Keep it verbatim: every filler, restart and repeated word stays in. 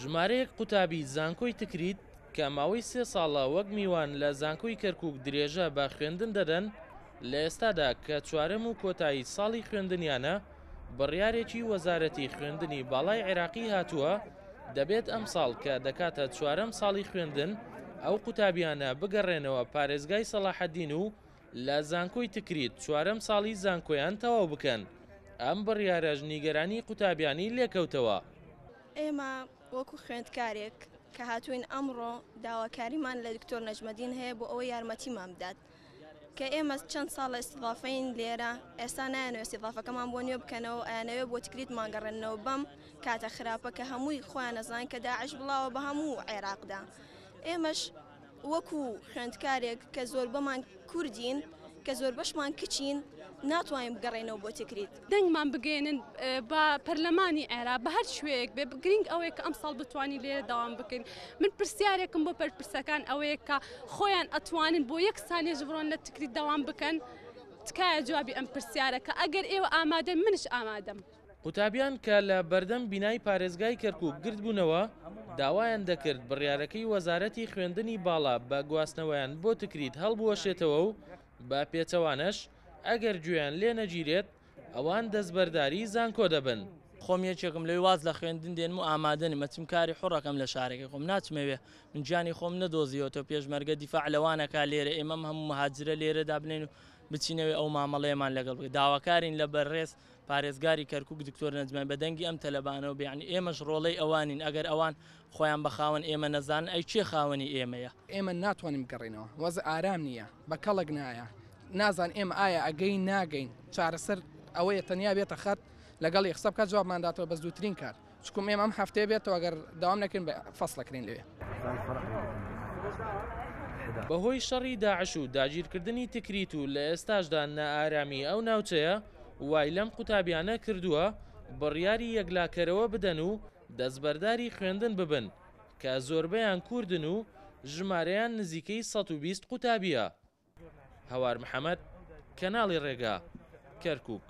ژمارەیەک قوتابی زانکۆی تکریت کە ماوەی سێ ساڵە وەک میوان لە زانکۆی کەرکوک درێژە بە خوێندن دەدەن، لە ئێستادا کە چوارەم و کۆتایی ساڵی خوێندنیانە، بڕیارێکی وەزارەتی خوێندنی باڵای عێراقی هاتووە دەبێت ئەم ساڵ کە دەکاتە چوارەم ساڵی خوێندن ئەو قوتابیانە بگەڕێنەوە پارێزگای سەڵاحەدین و لە زانکۆی تکریت چوارەم ساڵی زانکۆیان تەواو بکەن. ئەم بڕیارەش نیگەرانی قوتابیانی لێکەوتەوە. ئێمە وەکو خوێندکارێک کە هاتوین ئەمڕۆ داواکاریمان لە دکتۆر نەجمەدین هەیە بۆ ئەوەی یارمەتیمان بدات کە ئێمە چەند ساڵە ئیستیضافەین لێرە، ئێستا نایەنەوە ئیستیضافەکەمان بۆ نوێ بکەنەوە، ئەیانەوێ بۆ تکریتمان گەڕێننەوە بەم کاتە خراپە کە هەمووی خۆیان نەزان کە داعش بڵاوە بە هەموو عێراقدا. ئێمەش وەکو خوێندکارێک کە زۆربەمان کوردین، کە زۆربەشمان کچین، ناتوانین بگەڕێنەوە بۆ تکریت. دەنگمان بگەێنن بە پەرلەمانی عێراق بە هەر شوێیەک بێ، گرنگ ئەوەیە کە ئەم ساڵ بتوانین لێرە داوام بکەین. من پرسیارێکم بۆ پەرپرسەکان ئەوەیە کە خۆیان ئەتوانن بۆ یەک سانیەش بڕۆن لە تکریت داوام بکەن؟ تکایە جوابی ئەم پرسیارە کە ئەگەر ئێوە ئامادەن منش ئامادەم. قوتابیان کە لە بەردەم بینای پارێزگای کەرکوک گردبوونەوە داوایان دەکرد بڕیارەکەی وەزارەتی خوێندنی باڵا بە گواستنەوەیان بۆ تکریت هەڵبوەشێتەوە و بە پێچەوانەش ئەگەر گوێیان لێ نەگیرێت ئەوان دەستبەرداری زانکۆ دەبن. خۆم یەکێکم لەوێ واز لە خوێندن دێنم و ئامادەنم، ئەچم کاری حوڕەکەم لە شارەکەی خۆم، ناچمەوێ من گیانی خۆم نەدۆزیەوەتەوە. پێشمەرگە دیفاع لەوانەکا لێرە، ئێمەم هەموو مهاجرە لێرە دابنێن و بچینەوێ ئەو مامەڵەیەمان لەگەڵ بکەین. داواکارین لە بەڕێز پارێزگاری کەرکوک دکتۆر نەجمەدین بە دەنگی ئەم تەلەبانەوە بێ، یعنی ئێمەش ڕۆڵەی ئەوانین، ئەگەر ئەوان خۆیان بە خاوەن ئێمە نەزانن ئەی کێ خاوەنی ئێمەیە؟ ئێمە ناتوانین بگەڕێینەوە، وەزع ئارام نییە، بە کەڵک نایە، نازان ئێمە ئایا ئەگەین ناگەین. چارەسەر ئەوەیە تەنیا بێتە خەت لەگەڵ یەخسە بکات جوابمان داتەوە بە زووترین کار، چکم ئێمە ئەم هەفتەیە بێتەوە ئەگەر داوام نەکەین بە فەصلەکرین لەوێ. بەهۆی شەڕی داعش و داگیرکردنی تکریت و لە ئێستاشدا نائارامی ئەو ناوچەیە وای لەم قوتابیانە کردووە بڕیاری یەکلاکەرەوە بدەن و دەستبەرداری خوێندن ببن کە زۆربەیان کوردن و ژمارەیان نزیکەی سەد و بیست قوتابیە. هەوار محەممەد، کەناڵی ڕێگا، کەرکوک.